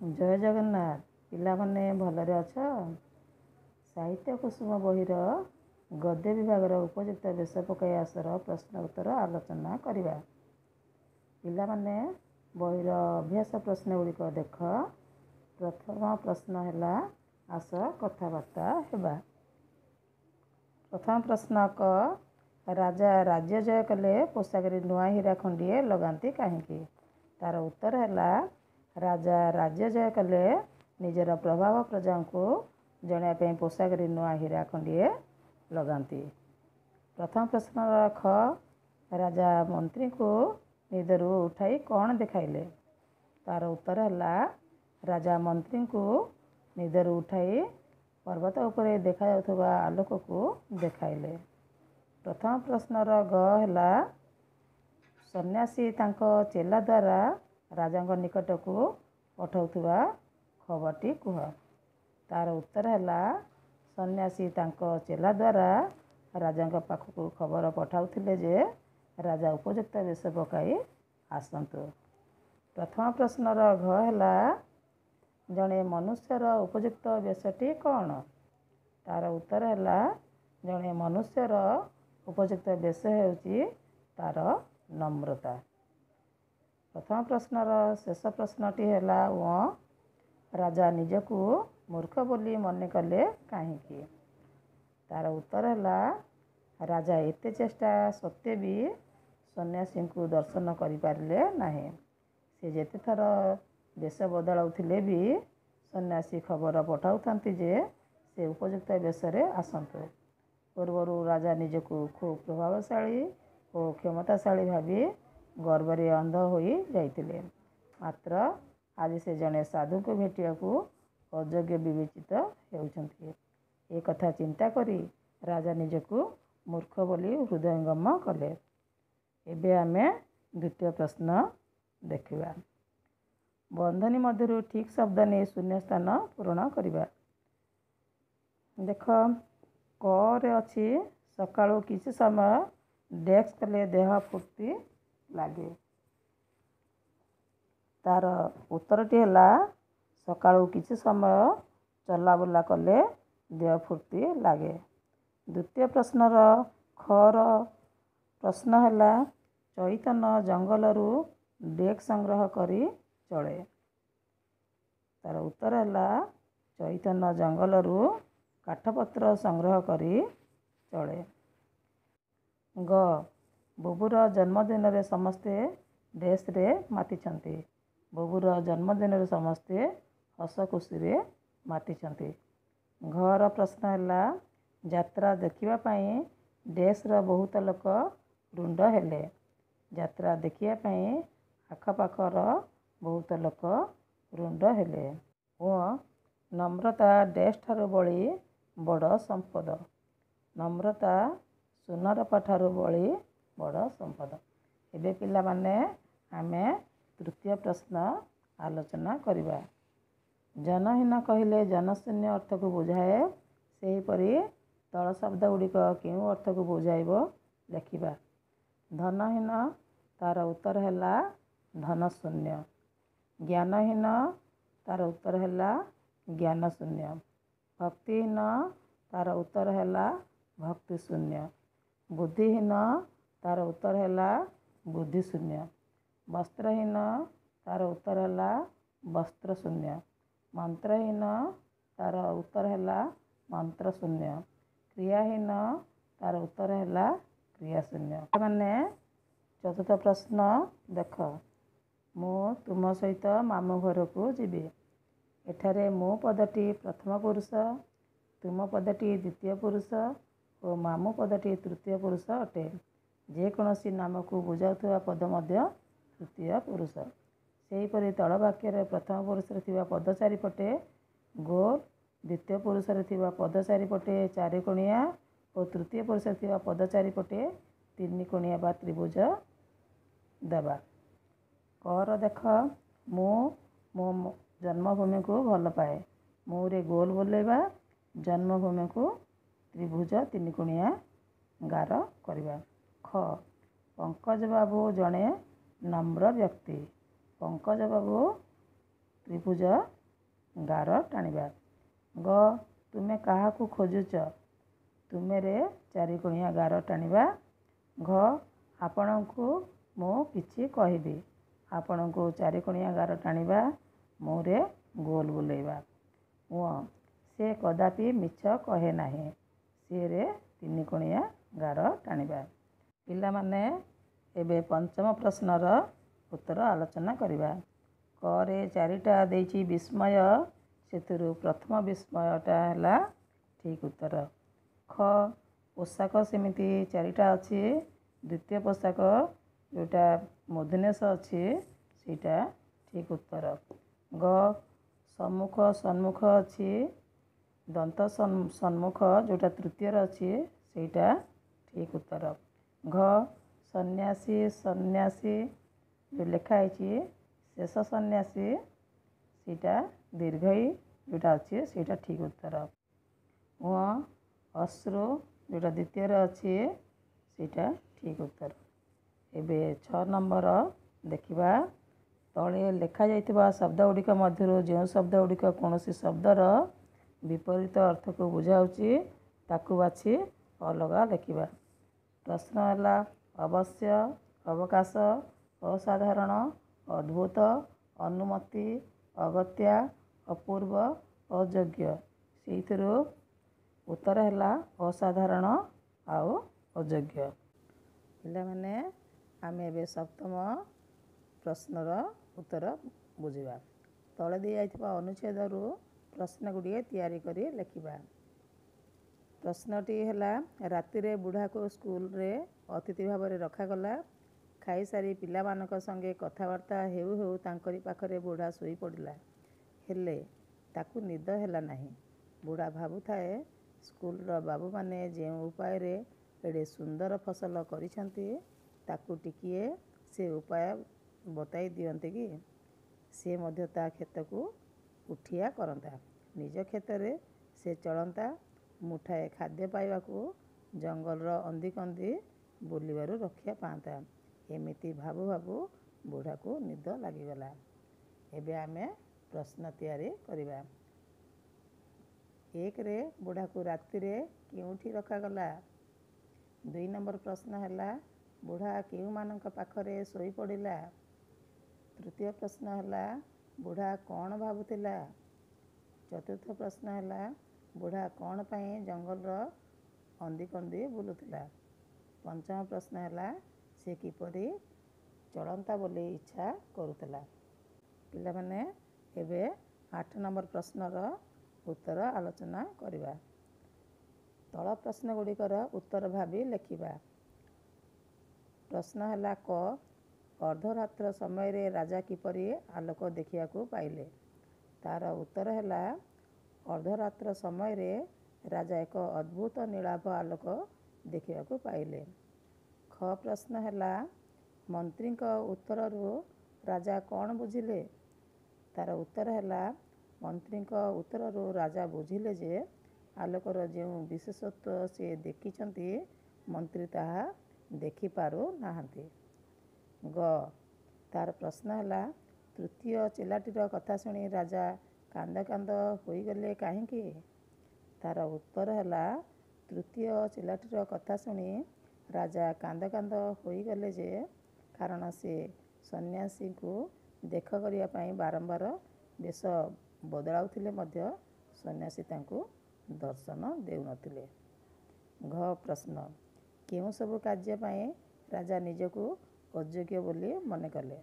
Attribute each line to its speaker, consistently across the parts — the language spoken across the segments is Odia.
Speaker 1: ଜୟ ଜଗନ୍ନାଥ। ପିଲାମାନେ ଭଲରେ ଅଛ? ସାହିତ୍ୟ କୁସୁମ ବହିର ଗଦ୍ୟ ବିଭାଗର ଉପଯୁକ୍ତ ବେଶ ପକାଇ ଆସର ପ୍ରଶ୍ନ ଉତ୍ତର ଆଲୋଚନା କରିବା। ପିଲାମାନେ, ବହିର ଅଭ୍ୟାସ ପ୍ରଶ୍ନ ଗୁଡ଼ିକ ଦେଖ। ପ୍ରଥମ ପ୍ରଶ୍ନ ହେଲା, ଆସ କଥାବାର୍ତ୍ତା ହେବା। ପ୍ରଥମ ପ୍ରଶ୍ନ କ, ରାଜା ରାଜ୍ୟ ଜୟ କଲେ ପୋଷାକରେ ନୂଆ ହୀରା ଖଣ୍ଡିଏ ଲଗାନ୍ତି କାହିଁକି? ତାର ଉତ୍ତର ହେଲା, ରାଜା ରାଜ୍ୟ ଜୟ କଲେ ନିଜର ପ୍ରଭାବ ପ୍ରଜାଙ୍କୁ ଜଣାଇବା ପାଇଁ ପୋଷାକରେ ନୂଆ ହୀରା ଖଣ୍ଡିଏ ଲଗାନ୍ତି। ପ୍ରଥମ ପ୍ରଶ୍ନର ଖ, ରାଜା ମନ୍ତ୍ରୀଙ୍କୁ ନିଦରୁ ଉଠାଇ କ'ଣ ଦେଖାଇଲେ? ତାର ଉତ୍ତର ହେଲା, ରାଜା ମନ୍ତ୍ରୀଙ୍କୁ ନିଦରୁ ଉଠାଇ ପର୍ବତ ଉପରେ ଦେଖାଯାଉଥିବା ଆଲୋକକୁ ଦେଖାଇଲେ। ପ୍ରଥମ ପ୍ରଶ୍ନର ଗ ହେଲା, ସନ୍ନ୍ୟାସୀ ତାଙ୍କ ଚେଲା ଦ୍ୱାରା ରାଜାଙ୍କ ନିକଟକୁ ପଠାଉଥିବା ଖବରଟି କୁହ। ତାର ଉତ୍ତର ହେଲା, ସନ୍ନ୍ୟାସୀ ତାଙ୍କ ଚେଲା ଦ୍ୱାରା ରାଜାଙ୍କ ପାଖକୁ ଖବର ପଠାଉଥିଲେ ଯେ ରାଜା ଉପଯୁକ୍ତ ବେଶ ପକାଇ ଆସନ୍ତୁ। ପ୍ରଥମ ପ୍ରଶ୍ନର ଘ ହେଲା, ଜଣେ ମନୁଷ୍ୟର ଉପଯୁକ୍ତ ବେଶଟି କ'ଣ? ତାର ଉତ୍ତର ହେଲା, ଜଣେ ମନୁଷ୍ୟର ଉପଯୁକ୍ତ ବେଶ ହେଉଛି ତାର ନମ୍ରତା। ପ୍ରଥମ ପ୍ରଶ୍ନର ଶେଷ ପ୍ରଶ୍ନଟି ହେଲା ଓ, ରାଜା ନିଜକୁ ମୂର୍ଖ ବୋଲି ମନେ କଲେ କାହିଁକି? ତାର ଉତ୍ତର ହେଲା, ରାଜା ଏତେ ଚେଷ୍ଟା ସତ୍ତ୍ୱେ ବି ସନ୍ନ୍ୟାସୀଙ୍କୁ ଦର୍ଶନ କରିପାରିଲେ ନାହିଁ। ସେ ଯେତେଥର ବେଶ ବଦଳାଉଥିଲେ ବି ସନ୍ନ୍ୟାସୀ ଖବର ପଠାଉଥାନ୍ତି ଯେ ସେ ଉପଯୁକ୍ତ ବେଶରେ ଆସନ୍ତୁ। ପୂର୍ବରୁ ରାଜା ନିଜକୁ ଖୁବ୍ ପ୍ରଭାବଶାଳୀ ଓ କ୍ଷମତାଶାଳୀ ଭାବି ଗର୍ବରେ ଅନ୍ଧ ହୋଇ ଯାଇଥିଲେ। ମାତ୍ର ଆଜି ସେ ଜଣେ ସାଧୁଙ୍କୁ ଭେଟିବାକୁ ଅଯୋଗ୍ୟ ବିବେଚିତ ହେଉଛନ୍ତି। ଏ କଥା ଚିନ୍ତା କରି ରାଜା ନିଜକୁ ମୂର୍ଖ ବୋଲି ହୃଦୟଙ୍ଗମ କଲେ। ଏବେ ଆମେ ଦ୍ୱିତୀୟ ପ୍ରଶ୍ନ ଦେଖିବା। ବନ୍ଧନୀ ମଧ୍ୟରୁ ଠିକ୍ ଶବ୍ଦ ନେଇ ଶୂନ୍ୟ ସ୍ଥାନ ପୂରଣ କରିବା। ଦେଖ, କରେ ଅଛି, ସକାଳୁ କିଛି ସମୟ ଡେସ୍କ କଲେ ଦେହ ଫୁର୍ତ୍ତି ଲାଗେ। ତାର ଉତ୍ତରଟି ହେଲା, ସକାଳୁ କିଛି ସମୟ ଚଲାବୁଲା କଲେ ଦେହ ଫୁର୍ତ୍ତି ଲାଗେ। ଦ୍ୱିତୀୟ ପ୍ରଶ୍ନର ଖର ପ୍ରଶ୍ନ ହେଲା, ଚୈତନ ଜଙ୍ଗଲରୁ ଡେକ୍ ସଂଗ୍ରହ କରି ଚଳେ। ତାର ଉତ୍ତର ହେଲା, ଚୈତନ ଜଙ୍ଗଲରୁ କାଠପତ୍ର ସଂଗ୍ରହ କରି ଚଳେ। ଗ, ବୁବୁର ଜନ୍ମଦିନରେ ସମସ୍ତେ ଡେସ୍ରେ ମାତିଛନ୍ତି। ବୁବୁର ଜନ୍ମଦିନରେ ସମସ୍ତେ ହସ ଖୁସିରେ ମାତିଛନ୍ତି। ଘର ପ୍ରଶ୍ନ ହେଲା, ଯାତ୍ରା ଦେଖିବା ପାଇଁ ଡେସ୍ର ବହୁତ ଲୋକ ରୁଣ୍ଡ ହେଲେ। ଯାତ୍ରା ଦେଖିବା ପାଇଁ ଆଖପାଖର ବହୁତ ଲୋକ ରୁଣ୍ଡ ହେଲେ। ଓ, ନମ୍ରତା ଡେସ୍ ଠାରୁ ବଳି ବଡ଼ ସମ୍ପଦ। ନମ୍ରତା ସୁନାରୂପା ଠାରୁ ବଳି ବଡ଼ ସମ୍ପଦ। ଏବେ ପିଲାମାନେ, ଆମେ ତୃତୀୟ ପ୍ରଶ୍ନ ଆଲୋଚନା କରିବା। ଜନହୀନ କହିଲେ ଜନଶୂନ୍ୟ ଅର୍ଥକୁ ବୁଝାଏ। ସେହିପରି ତଳ ଶବ୍ଦ ଗୁଡ଼ିକ କେଉଁ ଅର୍ଥକୁ ବୁଝାଇବ ଲେଖିବା। ଧନହୀନ, ତାର ଉତ୍ତର ହେଲା ଧନଶୂନ୍ୟ। ଜ୍ଞାନହୀନ, ତାର ଉତ୍ତର ହେଲା ଜ୍ଞାନଶୂନ୍ୟ। ଭକ୍ତିହୀନ, ତାର ଉତ୍ତର ହେଲା ଭକ୍ତିଶୂନ୍ୟ। ବୁଦ୍ଧିହୀନ, ତାର ଉତ୍ତର ହେଲା ବୁଦ୍ଧିଶୂନ୍ୟ। ବସ୍ତ୍ରହୀନ, ତାର ଉତ୍ତର ହେଲା ବସ୍ତ୍ରଶୂନ୍ୟ। ମନ୍ତ୍ରହୀନ, ତାର ଉତ୍ତର ହେଲା ମନ୍ତ୍ରଶୂନ୍ୟ। କ୍ରିୟାହୀନ, ତାର ଉତ୍ତର ହେଲା କ୍ରିୟାଶୂନ୍ୟ। ମାନେ ଚତୁର୍ଥ ପ୍ରଶ୍ନ ଦେଖ, ମୁଁ ତୁମ ସହିତ ମାମୁଁ ଘରକୁ ଯିବି। ଏଠାରେ ମୁଁ ପଦଟି ପ୍ରଥମ ପୁରୁଷ, ତୁମ ପଦଟି ଦ୍ୱିତୀୟ ପୁରୁଷ ଓ ମାମୁଁ ପଦଟି ତୃତୀୟ ପୁରୁଷ ଅଟେ। ଯେକୌଣସି ନାମକୁ ବୁଝାଉଥିବା ପଦ ମଧ୍ୟ ତୃତୀୟ ପୁରୁଷ। ସେହିପରି ତଳ ବାକ୍ୟରେ ପ୍ରଥମ ପୁରୁଷରେ ଥିବା ପଦ ଚାରିପଟେ ଗୋଲ, ଦ୍ୱିତୀୟ ପୁରୁଷରେ ଥିବା ପଦ ଚାରିପଟେ ଚାରିକୋଣିଆ ଓ ତୃତୀୟ ପୁରୁଷରେ ଥିବା ପଦ ଚାରିପଟେ ତିନି କୋଣିଆ ବା ତ୍ରିଭୁଜ ଦେବା। କର ଦେଖ, ମୁଁ ମୋ ଜନ୍ମଭୂମିକୁ ଭଲ ପାଏ। ମୁଁରେ ଗୋଲ ବୁଲେଇବା, ଜନ୍ମଭୂମିକୁ ତ୍ରିଭୁଜ ତିନିକୋଣିଆ ଗାର କରିବା। ଖ, ପଙ୍କଜ ବାବୁ ଜଣେ ନମ୍ର ବ୍ୟକ୍ତି। ପଙ୍କଜ ବାବୁ ତ୍ରିଭୁଜ ଗାର ଟାଣିବା। ଗ, ତୁମେ କାହାକୁ ଖୋଜୁଛ? ତୁମେରେ ଚାରିକୋଣିଆ ଗାର ଟାଣିବା। ଘ, ଆପଣଙ୍କୁ ମୁଁ କିଛି କହିବି। ଆପଣଙ୍କୁ ଚାରିକୋଣିଆ ଗାର ଟାଣିବା, ମୁଁରେ ଗୋଲ ବୁଲେଇବା। ଉଁ, ସେ କଦାପି ମିଛ କହେ ନାହିଁ। ସିଏରେ ତିନିକୋଣିଆ ଗାର ଟାଣିବା। ପିଲାମାନେ, ଏବେ ପଞ୍ଚମ ପ୍ରଶ୍ନର ଉତ୍ତର ଆଲୋଚନା କରିବା। କରେ ଚାରିଟା ଦେଇଛି ବିସ୍ମୟ, ସେଥିରୁ ପ୍ରଥମ ବିସ୍ମୟଟା ହେଲା ଠିକ୍ ଉତ୍ତର। ଖ, ପୋଷାକ ସେମିତି ଚାରିଟା ଅଛି, ଦ୍ୱିତୀୟ ପୋଷାକ ଯେଉଁଟା ମଧୁନେଶ ଅଛି ସେଇଟା ଠିକ୍ ଉତ୍ତର। ଗ, ସମ୍ମୁଖ ସମ୍ମୁଖ ଅଛି, ଦନ୍ତ ସମ୍ମୁଖ ଯେଉଁଟା ତୃତୀୟରେ ଅଛି ସେଇଟା ଠିକ୍ ଉତ୍ତର। ଘ, ସନ୍ନ୍ୟାସୀ ସନ୍ନ୍ୟାସୀ ଯେଉଁ ଲେଖା ହେଇଛି ଶେଷ ସନ୍ନ୍ୟାସୀ, ସେଇଟା ଦୀର୍ଘଇ ଯେଉଁଟା ଅଛି ସେଇଟା ଠିକ୍ ଉତ୍ତର। ଉଁ, ଅଶ୍ରୁ ଯେଉଁଟା ଦ୍ୱିତୀୟରେ ଅଛି ସେଇଟା ଠିକ୍ ଉତ୍ତର। ଏବେ 6 ନମ୍ବର ଦେଖିବା। ତଳେ ଲେଖାଯାଇଥିବା ଶବ୍ଦ ଗୁଡ଼ିକ ମଧ୍ୟରୁ ଯେଉଁ ଶବ୍ଦ ଗୁଡ଼ିକ କୌଣସି ଶବ୍ଦର ବିପରୀତ ଅର୍ଥକୁ ବୁଝାଉଛି ତାକୁ ବାଛି ଅଲଗା ଲେଖିବା। ପ୍ରଶ୍ନ ହେଲା ଅବଶ୍ୟ, ଅବକାଶ, ଅସାଧାରଣ, ଅଦ୍ଭୁତ, ଅନୁମତି, ଅଗତ୍ୟା, ଅପୂର୍ବ, ଅଯୋଗ୍ୟ। ସେଇଥିରୁ ଉତ୍ତର ହେଲା ଅସାଧାରଣ ଆଉ ଅଯୋଗ୍ୟ। ପିଲାମାନେ, ଆମେ ଏବେ ସପ୍ତମ ପ୍ରଶ୍ନର ଉତ୍ତର ବୁଝିବା। ତଳେ ଦିଆଯାଇଥିବା ଅନୁଚ୍ଛେଦରୁ ପ୍ରଶ୍ନ ଗୁଡ଼ିଏ ତିଆରି କରି ଲେଖିବା। ପ୍ରଶ୍ନଟି ହେଲା, ରାତିରେ ବୁଢ଼ାକୁ ସ୍କୁଲରେ ଅତିଥି ଭାବରେ ରଖାଗଲା। ଖାଇସାରି ପିଲାମାନଙ୍କ ସଙ୍ଗେ କଥାବାର୍ତ୍ତା ହେଉ ହେଉ ତାଙ୍କରି ପାଖରେ ବୁଢ଼ା ଶୋଇପଡ଼ିଲା। ହେଲେ ତାକୁ ନିଦ ହେଲା ନାହିଁ। ବୁଢ଼ା ଭାବୁଥାଏ, ସ୍କୁଲର ବାବୁମାନେ ଯେଉଁ ଉପାୟରେ ଏଡ଼େ ସୁନ୍ଦର ଫସଲ କରିଛନ୍ତି, ତାକୁ ଟିକିଏ ସେ ଉପାୟ ବତାଇ ଦିଅନ୍ତେ କି, ସେ ମଧ୍ୟ ତା କ୍ଷେତକୁ ଉଠିଆ କରନ୍ତା। ନିଜ କ୍ଷେତରେ ସେ ଚଳନ୍ତା, ମୁଠାଏ ଖାଦ୍ୟ ପାଇବାକୁ ଜଙ୍ଗଲର ଅନ୍ଦିକନ୍ଦି ବୁଲିବାରୁ ରକ୍ଷା ପାଆନ୍ତା। ଏମିତି ଭାବୁ ଭାବୁ ବୁଢ଼ାକୁ ନିଦ ଲାଗିଗଲା। ଏବେ ଆମେ ପ୍ରଶ୍ନ ତିଆରି କରିବା। 1ରେ ବୁଢ଼ାକୁ ରାତିରେ କେଉଁଠି ରଖାଗଲା? 2 ନମ୍ବର ପ୍ରଶ୍ନ ହେଲା, ବୁଢ଼ା କେଉଁମାନଙ୍କ ପାଖରେ ଶୋଇପଡ଼ିଲା? ତୃତୀୟ ପ୍ରଶ୍ନ ହେଲା, ବୁଢ଼ା କ'ଣ ଭାବୁଥିଲା? ଚତୁର୍ଥ ପ୍ରଶ୍ନ ହେଲା, ବୁଢ଼ା କ'ଣ ପାଇଁ ଜଙ୍ଗଲର ଅନ୍ଦିକନ୍ଦି ବୁଲୁଥିଲା? ପଞ୍ଚମ ପ୍ରଶ୍ନ ହେଲା, ସେ କିପରି ଚଳନ୍ତା ବୋଲି ଇଚ୍ଛା କରୁଥିଲା? ପିଲାମାନେ, ଏବେ 8 ନମ୍ବର ପ୍ରଶ୍ନର ଉତ୍ତର ଆଲୋଚନା କରିବା। ତଳ ପ୍ରଶ୍ନ ଗୁଡ଼ିକର ଉତ୍ତର ଭାବି ଲେଖିବା। ପ୍ରଶ୍ନ ହେଲା କ, ଅର୍ଦ୍ଧରାତ୍ର ସମୟରେ ରାଜା କିପରି ଆଲୋକ ଦେଖିବାକୁ ପାଇଲେ? ତାର ଉତ୍ତର ହେଲା, ଅର୍ଦ୍ଧରାତ୍ର ସମୟରେ ରାଜା ଏକ ଅଦ୍ଭୁତ ନୀଳାଭ ଆଲୋକ ଦେଖିବାକୁ ପାଇଲେ। ଖ ପ୍ରଶ୍ନ ହେଲା, ମନ୍ତ୍ରୀଙ୍କ ଉତ୍ତରରୁ ରାଜା କ'ଣ ବୁଝିଲେ? ତାର ଉତ୍ତର ହେଲା, ମନ୍ତ୍ରୀଙ୍କ ଉତ୍ତରରୁ ରାଜା ବୁଝିଲେ ଯେ ଆଲୋକର ଯେଉଁ ବିଶେଷତ୍ୱ ସେ ଦେଖିଛନ୍ତି, ମନ୍ତ୍ରୀ ତାହା ଦେଖିପାରୁନାହାନ୍ତି। ଗ, ତାର ପ୍ରଶ୍ନ ହେଲା, ତୃତୀୟ ଚେଲାଟିର କଥା ଶୁଣି ରାଜା କାନ୍ଦ କାନ୍ଦ ହୋଇଗଲେ କାହିଁକି? ତାର ଉତ୍ତର ହେଲା, ତୃତୀୟ ଚେଲାଟିର କଥା ଶୁଣି ରାଜା କାନ୍ଦ କାନ୍ଦ ହୋଇଗଲେ ଯେ କାରଣ ସେ ସନ୍ନ୍ୟାସୀଙ୍କୁ ଦେଖ କରିବା ପାଇଁ ବାରମ୍ବାର ବେଶ ବଦଳାଉଥିଲେ ମଧ୍ୟ ସନ୍ନ୍ୟାସୀ ତାଙ୍କୁ ଦର୍ଶନ ଦେଉନଥିଲେ। ଘ ପ୍ରଶ୍ନ, କେଉଁ ସବୁ କାର୍ଯ୍ୟ ପାଇଁ ରାଜା ନିଜକୁ ଅଯୋଗ୍ୟ ବୋଲି ମନେ କଲେ?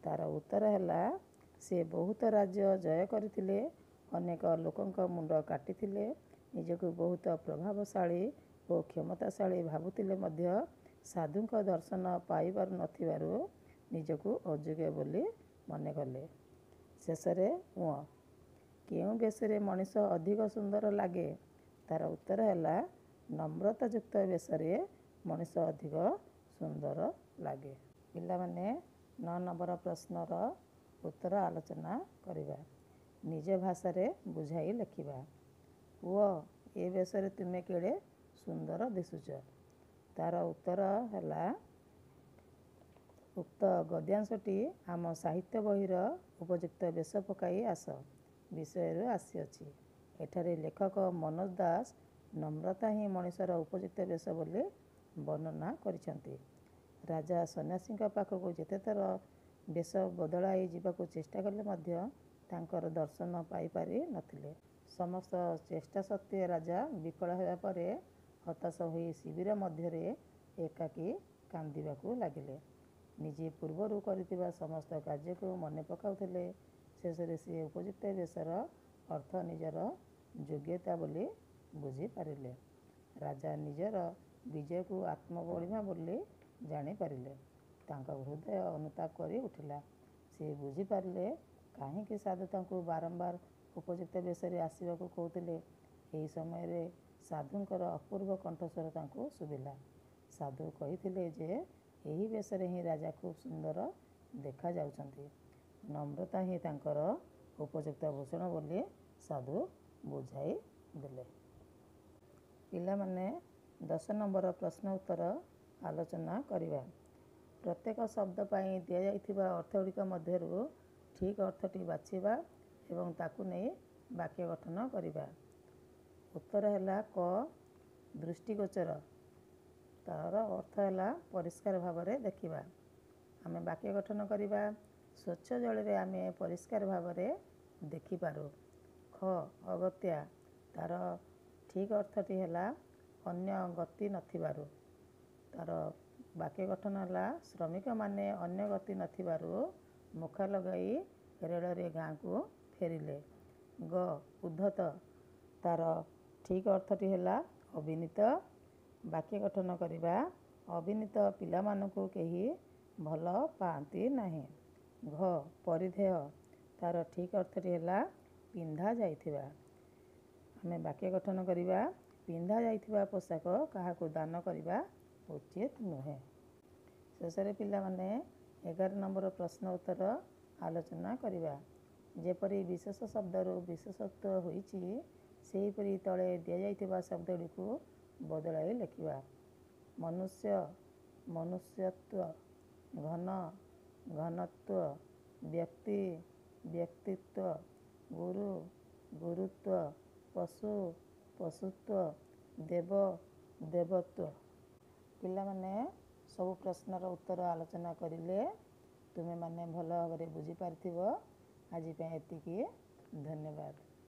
Speaker 1: ତାର ଉତ୍ତର ହେଲା, ସେ ବହୁତ ରାଜ୍ୟ ଜୟ କରିଥିଲେ, ଅନେକ ଲୋକଙ୍କ ମୁଣ୍ଡ କାଟିଥିଲେ, ନିଜକୁ ବହୁତ ପ୍ରଭାବଶାଳୀ ଓ କ୍ଷମତାଶାଳୀ ଭାବୁଥିଲେ ମଧ୍ୟ ସାଧୁଙ୍କ ଦର୍ଶନ ପାଇପାରୁନଥିବାରୁ ନିଜକୁ ଅଯୋଗ୍ୟ ବୋଲି ମନେ କଲେ। ଶେଷରେ ଉଁ, କେଉଁ ବେଶରେ ମଣିଷ ଅଧିକ ସୁନ୍ଦର ଲାଗେ? ତାର ଉତ୍ତର ହେଲା, ନମ୍ରତାଯୁକ୍ତ ବେଶରେ ମଣିଷ ଅଧିକ ସୁନ୍ଦର ଲାଗେ। ପିଲାମାନେ, 9 ନମ୍ବର ପ୍ରଶ୍ନର ଉତ୍ତର ଆଲୋଚନା କରିବା। ନିଜ ଭାଷାରେ ବୁଝାଇ ଲେଖିବା। ପୁଅ, ଏ ବେଶରେ ତୁମେ କେଡ଼େ ସୁନ୍ଦର ଦିଶୁଛ। ତାର ଉତ୍ତର ହେଲା, ଉକ୍ତ ଗଦ୍ୟାଂଶଟି ଆମ ସାହିତ୍ୟ ବହିର ଉପଯୁକ୍ତ ବେଶ ପକାଇ ଆସ ବିଷୟରୁ ଆସିଅଛି। ଏଠାରେ ଲେଖକ ମନୋଜ ଦାସ ନମ୍ରତା ହିଁ ମଣିଷର ଉପଯୁକ୍ତ ବେଶ ବୋଲି ବର୍ଣ୍ଣନା କରିଛନ୍ତି। ରାଜା ସନ୍ନ୍ୟାସୀଙ୍କ ପାଖକୁ ଯେତେଥର ବେଶ ବଦଳାଇ ଯିବାକୁ ଚେଷ୍ଟା କଲେ ମଧ୍ୟ ତାଙ୍କର ଦର୍ଶନ ପାଇପାରି ନଥିଲେ। ସମସ୍ତ ଚେଷ୍ଟା ସତ୍ତ୍ୱେ ରାଜା ବିଫଳ ହେବା ପରେ ହତାଶ ହୋଇ ଶିବିର ମଧ୍ୟରେ ଏକାକୀ କାନ୍ଦିବାକୁ ଲାଗିଲେ। ନିଜେ ପୂର୍ବରୁ କରିଥିବା ସମସ୍ତ କାର୍ଯ୍ୟକୁ ମନେ ପକାଉଥିଲେ। ଶେଷରେ ସିଏ ଉପଯୁକ୍ତ ବେଶର ଅର୍ଥ ନିଜର ଯୋଗ୍ୟତା ବୋଲି ବୁଝିପାରିଲେ। ରାଜା ନିଜର ବିଜୟକୁ ଆତ୍ମବଡ଼ିମା ବୋଲି ଜାଣିପାରିଲେ। ତାଙ୍କ ହୃଦୟ ଅନୁତାପ କରି ଉଠିଲା। ସେ ବୁଝିପାରିଲେ କାହିଁକି ସାଧୁ ତାଙ୍କୁ ବାରମ୍ବାର ଉପଯୁକ୍ତ ବେଶରେ ଆସିବାକୁ କହୁଥିଲେ। ଏହି ସମୟରେ ସାଧୁଙ୍କର ଅପୂର୍ବ କଣ୍ଠସ୍ୱର ତାଙ୍କୁ ଶୁଭିଲା। ସାଧୁ କହିଥିଲେ ଯେ ଏହି ବେଶରେ ହିଁ ରାଜା ଖୁବ୍ ସୁନ୍ଦର ଦେଖାଯାଉଛନ୍ତି। ନମ୍ରତା ହିଁ ତାଙ୍କର ଉପଯୁକ୍ତ ଭୂଷଣ ବୋଲି ସାଧୁ ବୁଝାଇ ଦେଲେ। ପିଲାମାନେ, 10 ନମ୍ବର ପ୍ରଶ୍ନ ଉତ୍ତର ଆଲୋଚନା କରିବା। ପ୍ରତ୍ୟେକ ଶବ୍ଦ ପାଇଁ ଦିଆଯାଇଥିବା ଅର୍ଥଗୁଡ଼ିକ ମଧ୍ୟରୁ ଠିକ୍ ଅର୍ଥଟି ବାଛିବା ଏବଂ ତାକୁ ନେଇ ବାକ୍ୟ ଗଠନ କରିବା। ଉତ୍ତର ହେଲା କ ଦୃଷ୍ଟିଗୋଚର। ତା'ର ଅର୍ଥ ହେଲା ପରିଷ୍କାର ଭାବରେ ଦେଖିବା। ଆମେ ବାକ୍ୟ ଗଠନ କରିବା, ସ୍ୱଚ୍ଛ ଜଳରେ ଆମେ ପରିଷ୍କାର ଭାବରେ ଦେଖିପାରୁ। ଖ ଅଗତ୍ୟା। ତା'ର ଠିକ୍ ଅର୍ଥଟି ହେଲା ଅନ୍ୟ ଗତି ନଥିବାରୁ। ତା'ର ବାକ୍ୟ ଗଠନ ହେଲା, ଶ୍ରମିକମାନେ ଅନ୍ୟ ଗତି ନଥିବାରୁ ମୁଖା ଲଗାଇ ରେଳରେ ଗାଁକୁ ଫେରିଲେ। ଗ ଉଦ୍ଧତ। ତା'ର ଠିକ୍ ଅର୍ଥଟି ହେଲା ଅବିନୀତ। ବାକ୍ୟ ଗଠନ କରିବା, ଅବିନୀତ ପିଲାମାନଙ୍କୁ କେହି ଭଲ ପାଆନ୍ତି ନାହିଁ। ଘ ପରିଧେୟ। ତା'ର ଠିକ୍ ଅର୍ଥଟି ହେଲା ପିନ୍ଧା ଯାଇଥିବା। ଆମେ ବାକ୍ୟ ଗଠନ କରିବା, ପିନ୍ଧା ଯାଇଥିବା ପୋଷାକ କାହାକୁ ଦାନ କରିବା ଉଚିତ ନୁହେଁ। ଶେଷରେ ପିଲାମାନେ, 11 ନମ୍ବର ପ୍ରଶ୍ନ ଉତ୍ତର ଆଲୋଚନା କରିବା। ଯେପରି ବିଶେଷ ଶବ୍ଦରୁ ବିଶେଷତ୍ୱ ହୋଇଛି, ସେହିପରି ତଳେ ଦିଆଯାଇଥିବା ଶବ୍ଦଗୁଡ଼ିକୁ ବଦଳାଇ ଲେଖିବା। ମନୁଷ୍ୟ ମନୁଷ୍ୟତ୍ୱ, ଘନ ଘନତ୍ୱ, ବ୍ୟକ୍ତି ବ୍ୟକ୍ତିତ୍ୱ, ଗୁରୁ ଗୁରୁତ୍ୱ, ପଶୁ ପଶୁତ୍ୱ, ଦେବ ଦେବତ୍ୱ। ପିଲାମାନେ, ସବୁ ପ୍ରଶ୍ନର ଉତ୍ତର ଆଲୋଚନା କରିଲେ। ତୁମେମାନେ ଭଲ ଭାବରେ ବୁଝିପାରିଥିବ। ଆଜି ପାଇଁ ଏତିକି। ଧନ୍ୟବାଦ।